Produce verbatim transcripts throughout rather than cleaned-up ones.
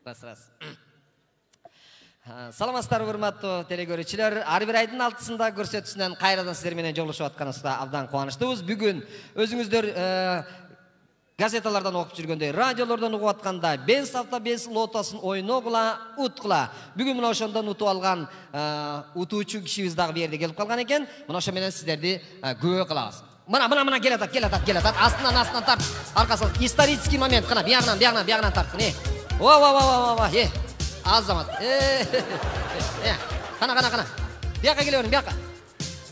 Раз, раз. Саламатсыздарбы, урматтуу телекөрүүчүлөр. Ар бир айдын алтысында көрсөтүүсүнөн кайрадан сиздер менен жолугушуп атканыбызда абдан кубанычтуубуз. Бүгүн өзүңүздөр газеталардан окуп жүргөндөй, радиолордон угуп атканда Бенс автобес лотосын ойногула, уткула. Бүгүн мына ошондон утуп алган утуучу кишибиз дагы бу жерде келип калган экен. Мына ошо менен сиздерди күбө кылабыз. Мына мына мына келатат, келатат, келатат. Астынан астынан тарт. Аркасын исторический момент. Кана биягынан, биягынан, биягынан тарткын. Э. Ва ва ва ва ва. Э. Азамат. Э. Э. Кана кана кана. Бияка келе бер, бияка.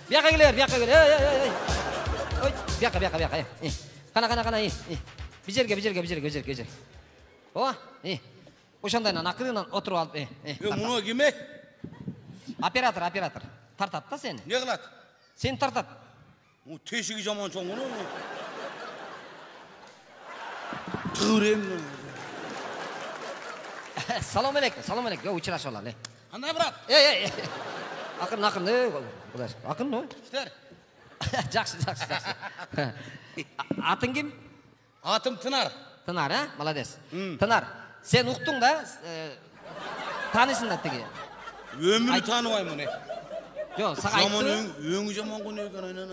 Бияка келе бер, бияка келе. Эй эй эй. Ой, бияка бияка бияка. Э. Кана кана кана. Э. Бижерге бижерге бижерге бижерге бижерге. О, э. Ошондайнан акырынан отуруп алып, э. Э, муну киме? Оператор, оператор. Тартат да сени. Не кылат? Сени тартат. Му тешиги жаман чоң муну. Турем. Салам алейкум, салам алейкум. Учурашып алалы. Кандай брат? Эй, эй. Акырын, акырын. Э, кудай. Акырын, ой. Иштер. Жакшы, жакшы, жакшы. Атың ким? Атым Тынар. Тынар, а? Молодец. Тынар, сен уктуң да, таанысың да тиги. Өмүрү тааныбайм муну. Жок, сага айтты. Жаман өңү жаман кone экен айнан.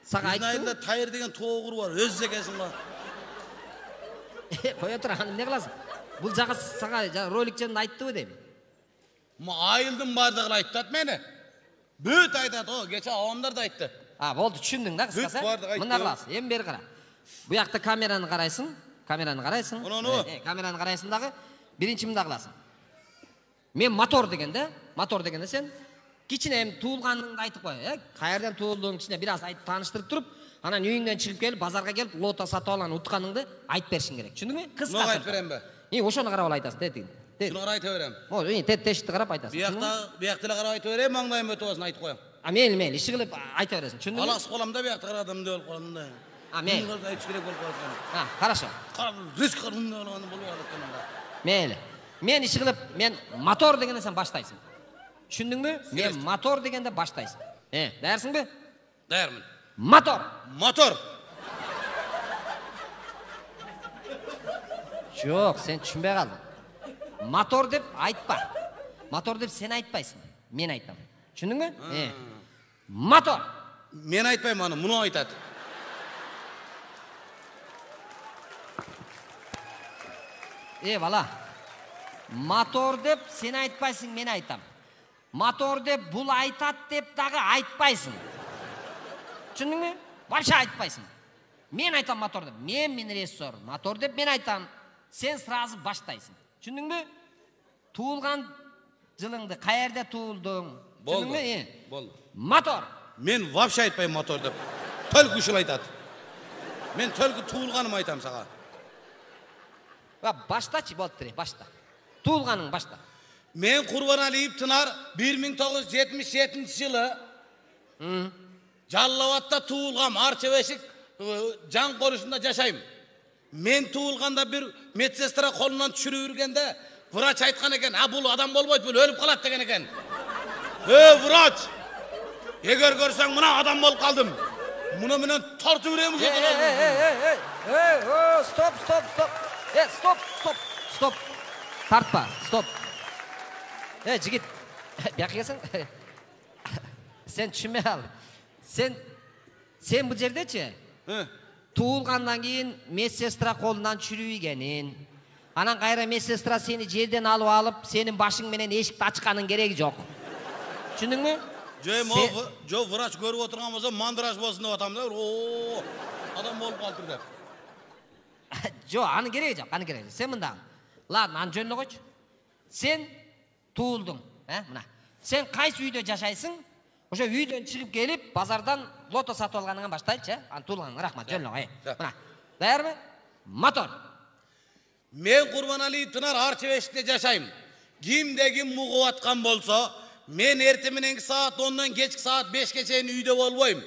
Сага айтты. Айында тайыр деген тоогур бар, өз экенсиң ба? Коя тур, ханым, эмне кыласың? Бул жагы сага ролик жөнүндө айттыбы дейм. Ма айылдын бардыгы айтат мени. Бүт айтат, о, кече авамдар да айтты. А, болду, түшүндүң да кыскасы. Мында кыласың, эми бери кара. Бу жакта камераны карайсың, камераны карайсың. Э, камераны карайсың дагы. Биринчи мында кыласың. Мен мотор дегенде, мотор дегенде сен кичине эми туулганыңды айтып кой, э? Каерден туулдуң, кичине бир аз айтып тааныштырып туруп, анан үйүңдөн чыгып келип, базарга келип, лото сатып алган утканыңды айтып беришиң керек. Түшүндүңбү? Кыска. Ноға айтып беремби? И, ошону карап айтасың, тетиң. Шуну карап айта берем. О, и тет тешти карап айтасың. Биякта, биякта карап айта берем, маңдайым өтүп алсын айтып коем. А, мейли, мейли, иши кылып айта бересиң. Түшүндүңбү? Алас колам да биякта карадым деп болуп калдым да. А, мейли. Айтып керек болуп калган. А, хорошо. Карап, риск кылган болгону болуп атканда. Мейли. Мен иши кылып, мен мотор дегенде сен баштайсың. Түшүндүңбү? Мен мотор дегенде баштайсың. Э, даярсыңбы? Даярмын. Мотор. Мотор. Жок, сен түшүнбөй калдың. Мотор деп айтпа. Мотор деп сен айтпайсың. Мен айтам. Түшүндүңбү? Э. Мотор. Мен айтпайм аны, муну айтат. Э, бала. Мотор деп сен айтпайсың, мен айтам. Мотор деп бул айтат деп дагы айтпайсың. Түшүндүңбү? Вообще айтпайсың. Мен айтам мотор деп. Мен мен режиссер. Мотор деп мен айтам. Сен сразу баштайсың. Түшүндүңбү? Туулган жылыңды каерде туулдуң? Түшүндүңбү? Болду. Мотор. Мен вообще айтпайм мотор деп. Төлкү ушул айтат. Мен төлкү туулганым айтам сага. Ва баштачы, болду, башта. Туулганың башта. Мен Курбаналиев Тынар бир миң тогуз жүз жетимиш жетинчи жылы Жалал Абадта туулгам, Арча Бешик жан корушунда жашайм. Мен туулганда бир медсестра колунан түшүрүп үргенде врач айткан экен, "А бул адам болбойт, бул өлүп калат" деген экен. "Э, врач! Эгер көрсөң мына адам болуп калдым. Муну менен тартып берем ушул." Эй, эй, эй, эй, стоп, стоп, стоп. Э, стоп, стоп, стоп. Тартпа, стоп. Э, жигит, бияка келсең. Сен түшүнбөй кал. Сен сен бул жердечи? Туулгандан кийин медсестра колунан чүрүйгенин. Анан кайра медсестра сени жерден алып алып, сенин башың менен эшикти ачканын кереги жок. Түшүндүңбү? Жо, жо врач көрүп отурган болсо, мандраж болсун деп атам да. О, адам болуп калдыр деп. Жо, анын кереги жок, анын кереги жок. Сен мындан. Ладно, аны жөнүнө койчу. Сен туулдуң, э, мына. Сен кайсы үйдө жашайсың? Ошо үйдөн чыгып келип, базардан лото сатып алганыңан баштайлычы, э? Аны туулганың, рахмат, жөнүнө кой. Мына. Даярбы? Мотор. Мен Курбаналиев Тынар Арча Бешикте жашайм. Кимде ким мугуп аткан болсо, мен эрте мененки саат ондан кечки саат бешке чейин үйдө болбойм.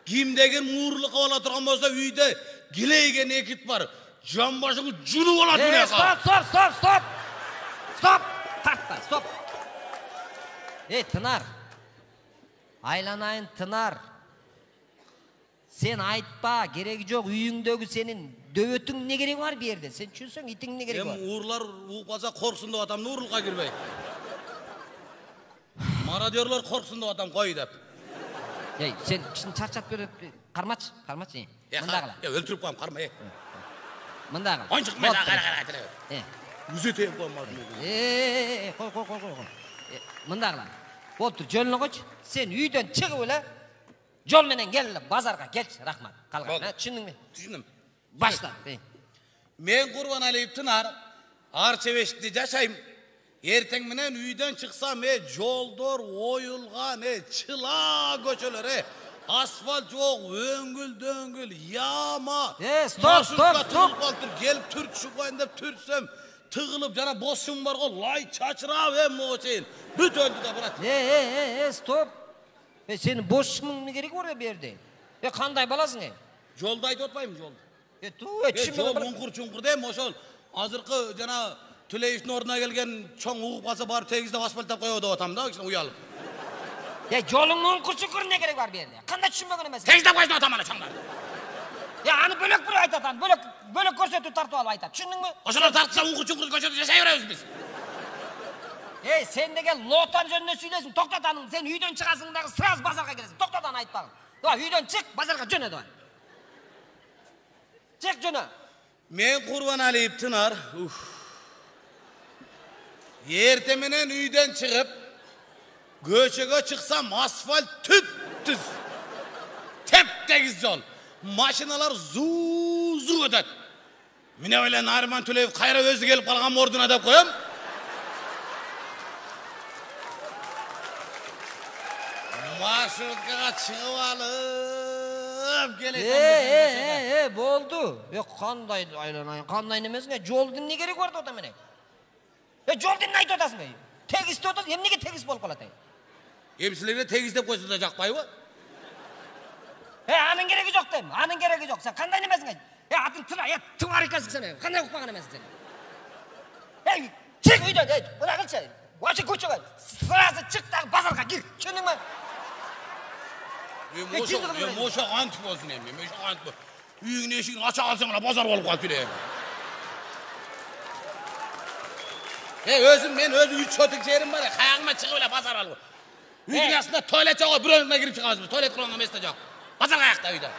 Кимде ким муурлукка бала турган болсо, үйдө килейген экит бар. Жан башыңы жунуп алат мына. Стоп, стоп, стоп, стоп. Стоп! Тартпа, стоп. Эй, Тынар. Айланайын, Тынар. Сен айтпа, кереги жок. Үйүңдөгү сенин дөбөтүң эмне кереги бар бу жерде? Сен түшүнсөң, итиң эмне кереги бар? Эми уурлар ууп калса корксун деп атам, уурулукка кирбей. Мародёрлор корксун деп атам, кой деп. Эй, сен кишини чарчатып берип, кармачы, кармачы. Мында кыла. Э, өлтүрүп коем, карма, э. Мында кыл. Ойнчук мен кара кара кара. Э. Үзөтөйм коймадым. Э, кой, кой, кой, кой. Мында кыла. Болуптур, жолуна койчу. Сен үйдөн чыгып эле жол менен кел, базарга келчи, рахмат. Калган, түшүндүңбү? Түшүндүм. Башла. Мен Курбаналиев Тынар, Арчебешикте жашайм. Эртең менен үйдөн чыксам, э, жолдор оюлган, э, чыла көчөлөр, э. Асфальт жок, өңгүл-дөңгүл, яма. Э, стоп, стоп, стоп. Келип түртүшүп коюн деп түртсөм, тыгылып жана бош шум бар го, лай чачырап эм могу чейин. Бүт өндү да барат. Э, э, э, стоп. Э, сенин бош шумуң кереги бар бу жерде? Э, кандай баласың, э? Жолду айтып атпаймынбы, жолду? Э, туу, э, Жол түшүнбөй уңкур-чуңкур дейм, ошол азыркы жана Төлеевдин ордуна келген чоң угуп калса барып тегиздеп асфальттап коебу деп атам да, кичине уялып. Э, жолуңдун уңкур-чуңкур эмне кереги бар бу жерде? Кандай түшүнбөгөн эмессиң? Тегиздеп койсун деп атам ана чоңдар. Э, аны бөлөк бирөө айтат, аны бөлөк бөлөк көрсөтүп тартып алып айтат. Түшүндүңбү? Ошолор тартса уңкур-чуңкур көчөдө жашай беребиз биз. Эй, сен деген лотан жөнүндө сүйлөйсүң. Токтот аны. Сен үйдөн чыгасың дагы сразу базарга келесиң. Токтот аны айтпагын. Давай, үйдөн чык, базарга жөнө давай. Чык жөнө. Мен Курбаналиев Тынар. Эрте менен үйдөн чыгып, көчөгө чыксам, асфальт түп-түз. Теп-тегиз жол. Машиналар зуу-зуу өтөт. Міне эле Нарман Төлеев кайра өзү келип калган ордуна деп коем. Маршруткага чыгып алып келет. Э, э, болду. Э, кандай айланайын, кандай немесиңе? Жолдун эмне кереги бар деп атам мен? Э, жолду эмне айтып атасың? Тегиз деп атасың, эмнеге тегиз болуп калат? Эми силерге тегиз деп койсо да жакпайбы? Э, анын кереги жок дейм. Анын кереги жок. Сен кандай немесиң? Э, атын тыра, э, тывар экенсиң сен. Кандай укпаган эмесиң сен? Эй, чык үйдөн, эй, мына кылчы. Вообще көчөгө сразу чык дагы базарга кир. Түшүндүңбү? Эми ошо, эми ошо антип болсун эми. Эми ошо антип. Үйүңдүн эшигин ача калсаң эле базар болуп калып келе. Э, өзүм мен өзү үч сотык жерим бар. Каягыма чыгып эле базар алып. Үйдүн астында туалет жок, бирөөнүнө кирип чыгабыз. Туалет кылган эмес да жок. Базар каякта үйдө.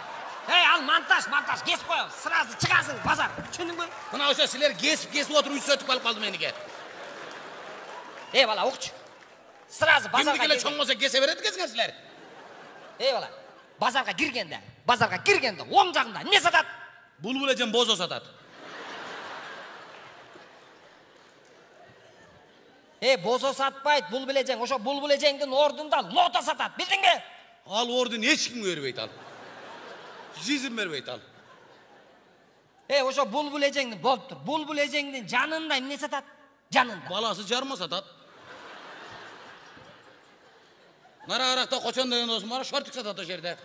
Эй, ал монтаж, монтаж кесип коем. Сразу чыгасың базар. Түшүндүңбү? Мына ошо силер кесип-кесип отуруп үч сотук алып калды меники. Эй, бала, укчу. Сразу базарга кир. Кимди келе чоң болсо кесе берет экенсиңер силер. Эй, бала, базарга киргенде, базарга киргенде оң жагында эмне сатат? Булбул эжем бозо сатат. Э, бозо сатпайт, булбул эжең. Ошо булбул эжеңдин ордунда лото сатат, билдиңби? Ал ордун эч кимге бербейт ал. Жизнь бербейт ал. Э, ошо булбул эжеңдин болуптур. Булбул эжеңдин жанында эмне сатат? Жанында. Баласы жарма сатат. Нарааракта Кочон деген досум бар, шортик сатат ошол жерде.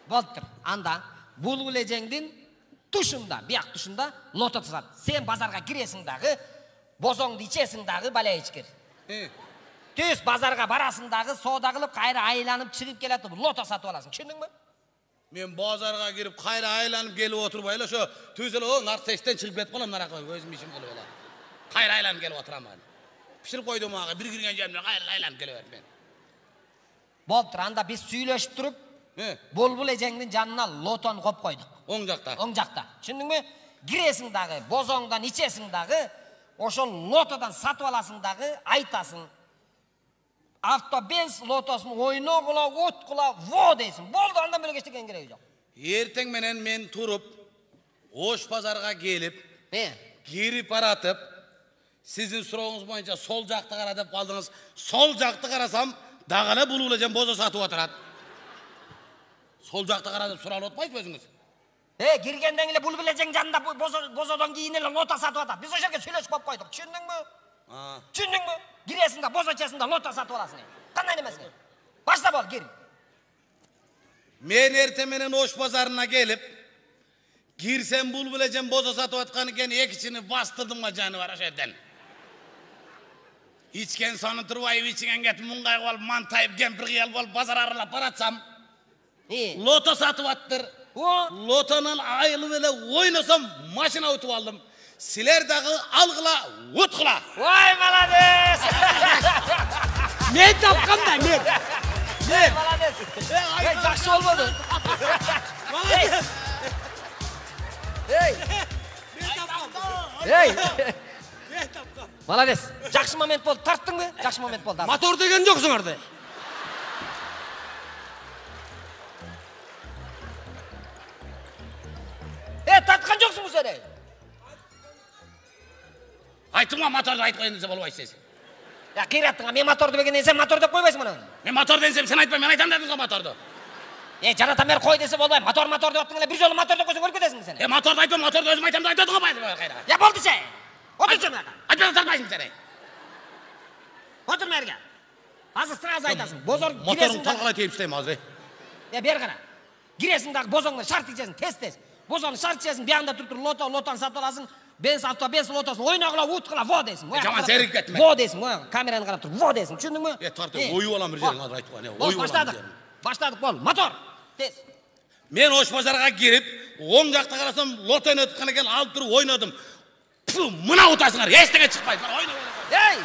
Болуптур. Анда булбул эжеңдин тушунда, бияк тушунда лото сатат. Сен базарга киресиң дагы, бозоңду ичесиң дагы, баля ичкир. Э. Түз базарга барасың дагы, соода кылып, кайра айланып чыгып келатып, лото сатып аласың. Түшүндүңбү? Мен базарга кирип, кайра айланып келип отурбай эле ошо түз эле наркотиктен чыгып кетип калам, наракка өзүм ишим кылып эле. Кайра айланып келип отурам мен. Пиширип койдум ага, бир кирген жеримде кайра айланып келе берем мен. Болуптур, анда биз сүйлөшүп туруп, булбул эжеңдин жанына лотону коюп койдук. Оң жакта. Оң жакта. Түшүндүңбү? Киресиң дагы, бозоңдон ичесиң дагы, ошол лотодон сатып аласың дагы, айтасың. Автобенз лотосун ойногула, откула, во дейсиң. Болду, андан бөлөк эчтеке кереги жок. Эртең менен мен туруп, Ош базарга келип, кирип баратып, сиздин сурооңуз боюнча сол жакты кара деп калдыңыз. Сол жакты карасам, дагы эле булбул эжем бозо сатып отурат. Сол жакты кара деп суралып атпайсызбы өзүңүз? Э, киргенден эле булбул эжең жанында бозодон кийин эле лото сатып атат. Биз ошол жерге сүйлөшүп коюп койдук. Түшүндүңбү? Түшүндүңбү? Киресиң да бозо ичесиң да лото сатып аласың. Кандай немесиң? Башта бол, кир. Мен эрте менен Ош базарына келип, кирсем булбул эжем бозо сатып аткан экен, экичини бастырдым га жаны бар ошол жерден. Ичкен сону турбайбы, ичиген кетип муңгайып алып, мантайып, кемпир кыялып алып, базар аралап баратсам, Лото сатып аттыр. Лотонун айылып эле ойносом, машина утуп алдым. Силер дагы алгыла, уткула. Ой, молодец! Мен тапкам да, мен. Мен молодец. Эй, жакшы болбоду. Молодец. Эй. Мен тапкам. Эй. Мен тапкам. Молодец. Жакшы момент болду. Тарттыңбы? Жакшы момент болду. Мотор деген жоксуңарды. Э, тарткан жоксуңбу сен? Айтыңа моторду айтып коюн десе болбойт сиз. Я кыйраттыңа, мен моторду дегенде сен мотор деп койбойсуң муну. Мен мотор десем сен айтпай, мен айтам дедиң го моторду. Э, жаратам бери кой десе болбой. Мотор мотор деп аттың эле бир жолу мотор деп койсоң өлүп кетесиң сен. Э, моторду айтпа, моторду өзүм айтам деп айтадың го кайра. Я болду сен. Отурчу мына. Айтпай тартпайсың сен. Отур мерге. Азыр сразу айтасың. Бозор моторун талкалай тейип иштейм азыр. Э, бер кара. Киресиң дагы бозоңдон шарт ичесиң, тез-тез. Бозоңду шарт ичесиң, биягында туруп туруп лото, лотон сатып аласың. Бенс авто, бенс лотосун ойногула, уткула, во дейсиң. Жаман серик кетме. Во дейсиң, во, камераны карап туруп, во дейсиң, түшүндүңбү? Э, тарт, оюп алам бир жерин азыр айтып коюн. Оюп алам. Баштадык. Баштадык, бол. Мотор. Тез. Мен ош базарга кирип, оң жакта карасам, лото ойнотуп экен, алып туруп ойнодум. Мына утасыңар, эчтеке чыкпайт. Ойноо. Эй!